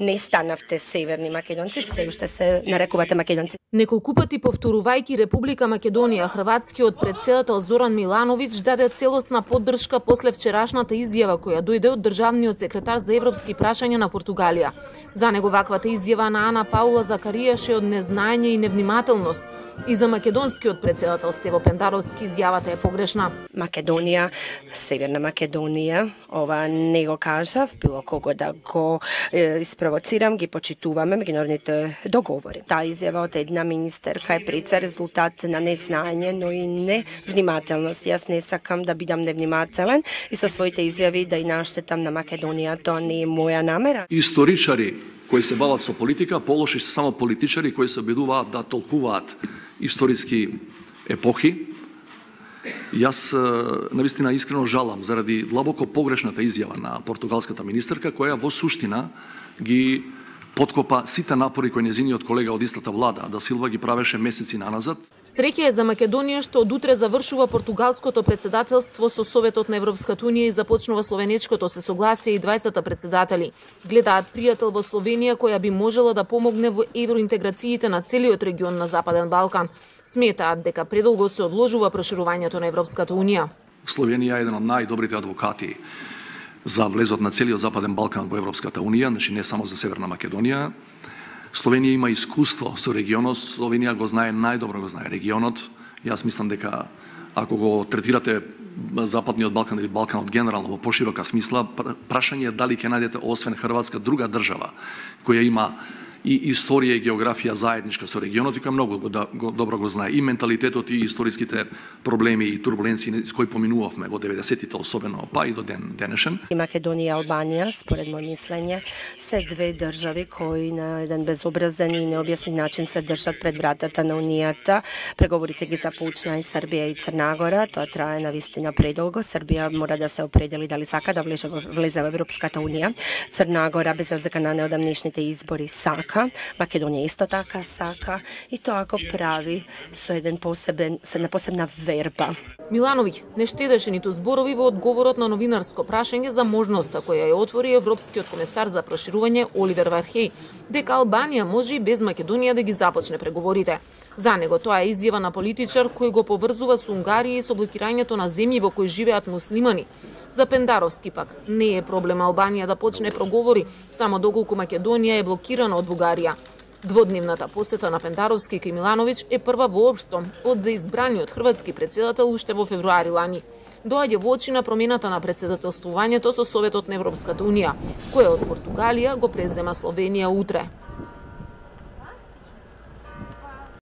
Не станавте северни македонци, се уште се нарекувате македонци. Неколку пати повторувајќи Република Македонија, хрватскиот претседател Зоран Милановиќ даде целосна поддршка после вчерашната изјава која дојде од државниот секретар за европски прашања на Португалија. За него ваквата изјава на Ана Паула Закаријаш е од незнаење и невнимателност. И за македонскиот претседател Стево Пендаровски изјавата е погрешна. Македонија, Северна Македонија, ова не го кажав, било кого да го испровоцирам, ги почитуваме меѓународните договори. Таа изјава од една министерка е прица резултат на незнаење, но и невнимателност. Јас не сакам да бидам невнимателен и со своите изјави да и наштетам на Македонија, тоа не е моја намера. Историчари кои се бават со политика, полоши се само политичари кои се обидуваат да толкуваат историски епохи. Јас навистина искрено жалам заради длабоко погрешната изјава на португалската министерка, која во суштина ги подкопа сите напори кои нејзиниот колега од истата влада, да Силва, ги правеше месеци наназад. Среќа е за Македонија што од утре завршува португалското претседателство со Советот на Европската унија и започнува словенечкото, се согласија и двајцата претседатели. Гледаат пријател во Словенија која би можела да помогне во евроинтеграциите на целиот регион на Западен Балкан. Сметаат дека предолго се одложува проширувањето на Европската унија. Словенија е еден од најдобрите адвокати за влезот на целиот Западен Балкан во Европската унија, значи не само за Северна Македонија. Словенија има искуство со регионот, Словенија го знае најдобро, го знае регионот. Јас мислам дека ако го третирате Западниот Балкан или Балканот генерално во поширока смисла, прашање е дали ќе најдете освен Хрватска друга држава која има и историја и географија заедничка со регионот и која многу добро го знае и менталитетот и историските проблеми и турбуленции с кои поминувавме во 90-тите, особено па и до денешен. И Македонија и Албанија, според мој мислење, се две држави кои на еден безобразен и необјаснет начин се држат пред вратата на унијата. Преговорите ги започна и Србија и Црна Гора, тоа трае навистина предолго. Србија мора да се определи дали сака да влезе во Европската унија. Црна Гора без разлика на неодамнешните избори сака. Македонија исто така сака и тоа го прави со една посебна верба. Милановиќ не штедеше ниту зборови во одговорот на новинарско прашање за можноста која ја отвори Европскиот комесар за проширување Оливер Вархеј, дека Албанија може и без Македонија да ги започне преговорите. За него тоа е изјава на политичар кој го поврзува со Унгарија и со блокирањето на земји во кои живеат муслимани. За Пендаровски пак не е проблем Албанија да почне проговори, само доколку Македонија е блокирана од Бугарија. Дводневната посета на Пендаровски кај Милановиќ е прва воопшто од заизбраниот хрватски претседател уште во февруари лани. Доаѓа во очи на промената на претседателствувањето со Советот на Европската унија, која од Португалија го презема Словенија утре.